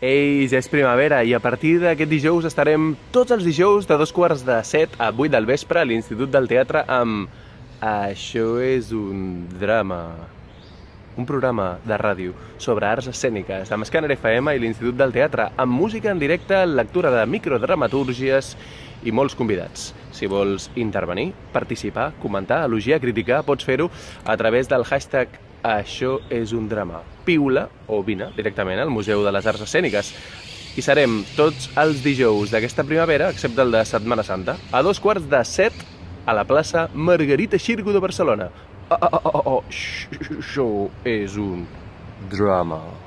Ei, ja és primavera i a partir d'aquest dijous estarem tots els dijous de 2:45 a 8 del vespre a l'Institut del Teatre amb Això és un drama, un programa de ràdio sobre arts escèniques amb Scanner FM i l'Institut del Teatre, amb música en directe, lectura de microdramatúrgies i molts convidats. Si vols intervenir, participar, comentar, elogiar, criticar, pots fer-ho a través del hashtag Això és un drama. Piula o vine directament al Museu de les Arts Escèniques. I serem tots els dijous d'aquesta primavera, excepte el de Setmana Santa, a 2:45 a la plaça Margarita Xirgu de Barcelona. Això és un drama.